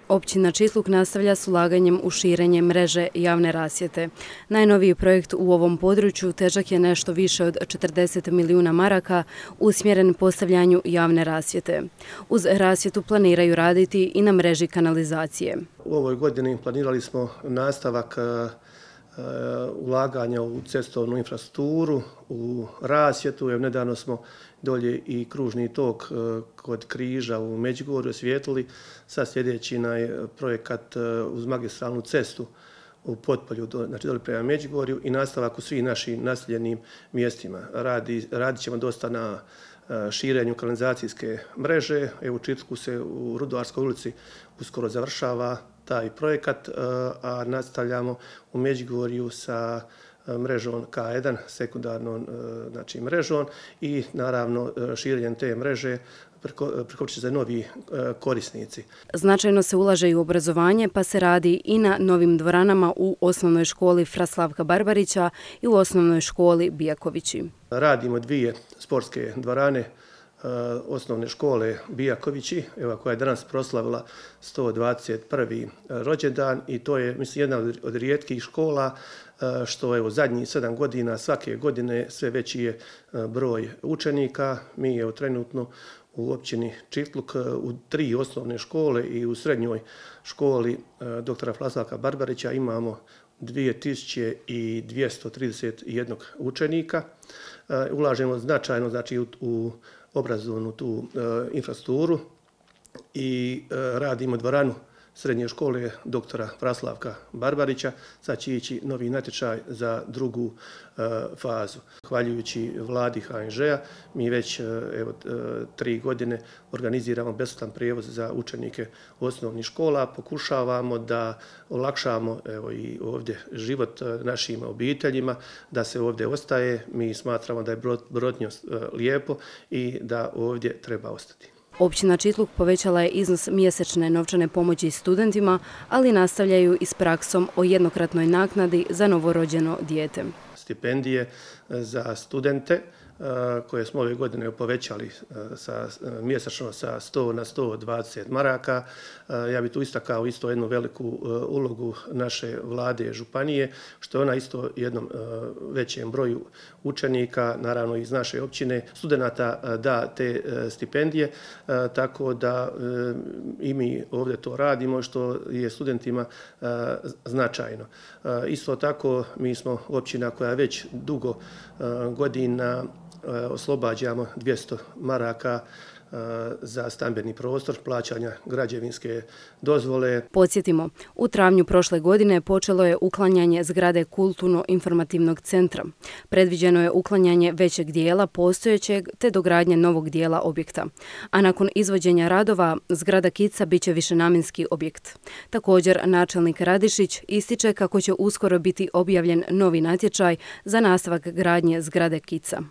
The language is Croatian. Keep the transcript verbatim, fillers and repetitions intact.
Općina Čitluk nastavlja s ulaganjem u širenje mreže javne rasvjete. Najnoviji projekt u ovom području težak je nešto više od četrdeset milijuna maraka usmjeren postavljanju javne rasvjete. Uz rasvjetu planiraju raditi i na mreži kanalizacije. U ovoj godini planirali smo nastavak ulaganja u cestovnu infrastrukturu, u rasvjetu. Evo, nedavno smo dolje i kružni tok kod Križa u Međugorju osvijetlili. Sad sljedeći projekat uz magistralnu cestu u Potpolju, znači dole prema Međugorju, i nastavak u svim našim naseljenim mjestima. Radi, radit ćemo dosta na širenju kanalizacijske mreže. Evo, u Čitluku se u Rudoarskoj ulici uskoro završava taj projekat, a nastavljamo u Međugorju sa mrežom K jedan, sekundarnom znači, mrežom, i naravno širenjem te mreže preko će se novi korisnici. Značajno se ulaže i u obrazovanje, pa se radi i na novim dvoranama u osnovnoj školi Fra Slavka Barbarića i u osnovnoj školi Bijakovići. Radimo dvije sportske dvorane osnovne škole Bijakovići, evo, koja je danas proslavila sto dvadeset prvi rođendan, i to je, mislim, jedna od rijetkih škola što evo zadnjih sedam godina svake godine sve veći je broj učenika. Mi je trenutno u općini Čitluk u tri osnovne škole i u srednjoj školi doktora Fra Slavka Barbarića imamo dvije tisuće dvjesto trideset jedan učenika. Ulažemo značajno, znači, u, u obrazovnu tu e, infrastrukturu i e, radimo dvoranu srednje škole doktora Fra Slavka Barbarića. Sad će ići novi natječaj za drugu e, fazu. Hvaljujući vladi H N Ž-a mi već e, evo, e, tri godine organiziramo besplatan prijevoz za učenike osnovnih škola. Pokušavamo da olakšamo evo, i ovdje život našim obiteljima, da se ovdje ostaje. Mi smatramo da je Brotnjo lijepo i da ovdje treba ostati. Općina Čitluk povećala je iznos mjesečne novčane pomoći studentima, ali nastavljaju i s praksom o jednokratnoj naknadi za novorođeno dijete. Stipendije za studente koje smo ove godine povećali sa, mjesečno sa sto na sto dvadeset maraka. Ja bih tu istakao isto jednu veliku ulogu naše vlade županije, što je ona isto jednom većem broju učenika, naravno iz naše općine, studenata, da te stipendije, tako da i mi ovdje to radimo, što je studentima značajno. Isto tako mi smo općina koja već dugo godina oslobađamo dvjesto maraka za stambeni prostor, plaćanja građevinske dozvole. Podsjetimo, u travnju prošle godine počelo je uklanjanje zgrade Kulturno-informativnog centra. Predviđeno je uklanjanje većeg dijela postojećeg te dogradnje novog dijela objekta. A nakon izvođenja radova, zgrada Kica biće višenamjenski objekt. Također, načelnik Radišić ističe kako će uskoro biti objavljen novi natječaj za nastavak gradnje zgrade Kica.